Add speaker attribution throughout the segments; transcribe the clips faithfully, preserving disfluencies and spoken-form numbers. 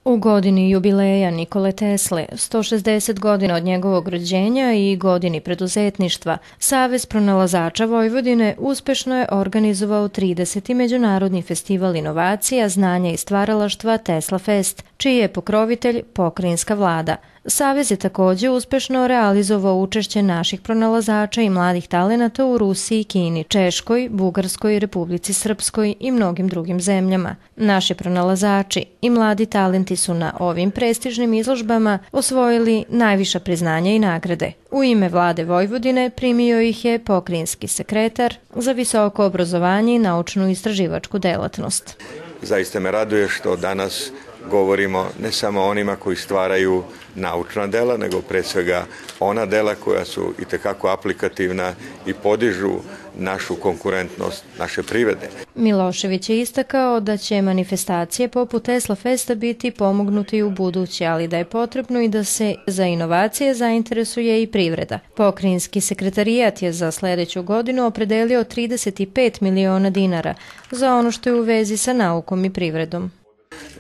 Speaker 1: U godini jubileja Nikole Tesle, sto šezdeset godina od njegovog rođenja i godini preduzetništva, Savez pronalazača Vojvodine uspešno je organizovao trideseti Međunarodni festival inovacija, znanja i stvaralaštva Tesla Fest, čiji je pokrovitelj pokrajinska vlada. Savez je također uspešno realizovao učešće naših pronalazača i mladih talenata u Rusiji, Kini, Češkoj, Bugarskoj, Republici Srpskoj i mnogim drugim zemljama. Naši pronalazači i mladi talenti su na ovim prestižnim izložbama osvojili najviša priznanja i nagrade. U ime vlade Vojvodine primio ih je pokrajinski sekretar za visoko obrazovanje i naučnu istraživačku delatnost.
Speaker 2: Zaista me raduje što danas govorimo ne samo o onima koji stvaraju naučna dela, nego pre svega ona dela koja su itekako aplikativna i podižu našu konkurentnost, naše privrede.
Speaker 1: Milošević je istakao da će manifestacije poput Tesla Festa biti pomognuti u buduće, ali da je potrebno i da se za inovacije zainteresuje i privreda. Pokrajinski sekretarijat je za sljedeću godinu opredelio trideset pet miliona dinara za ono što je u vezi sa naukom i privredom.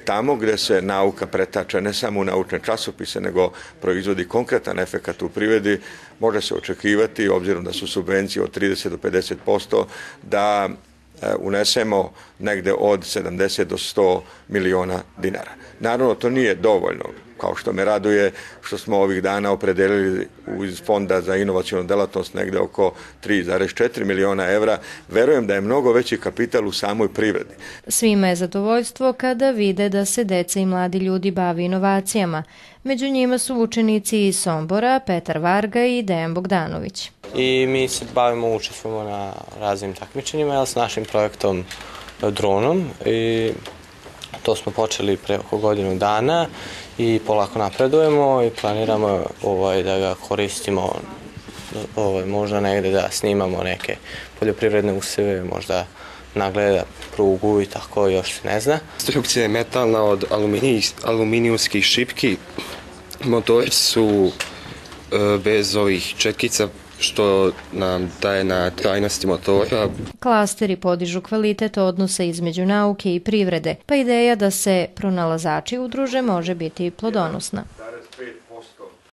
Speaker 2: Tamo gdje se nauka pretača ne samo u naučne časopise, nego proizvodi konkretan efekat u privredi, može se očekivati, obzirom da su subvencije od trideset do pedeset posto, da unesemo negde od sedamdeset do sto miliona dinara. Naravno, to nije dovoljno, kao što me raduje što smo ovih dana opredelili iz Fonda za inovacionu delatnost negde oko tri zarez četiri miliona evra. Verujem da je mnogo veći kapital u samoj privredi.
Speaker 1: Svima je zadovoljstvo kada vide da se deca i mladi ljudi bavi inovacijama. Među njima su učenici iz Sombora, Petar Varga i Dejan Bogdanović.
Speaker 3: I mi se bavimo, učestvujemo na raznim takmičenjima s našim projektom dronom i to smo počeli pre oko godinu dana i polako napredujemo i planiramo ovaj, da ga koristimo ovaj, možda negde da snimamo neke poljoprivredne useve, možda nagleda prugu i tako, još se ne zna.
Speaker 4: Konstrukcija je metalna od aluminij, aluminijumskih šipki. Motori su e, bez ovih četkica što nam daje na trajnosti motora.
Speaker 1: Klasteri podižu kvalitet odnosa između nauke i privrede, pa ideja da se pronalazači udruže može biti plodonosna.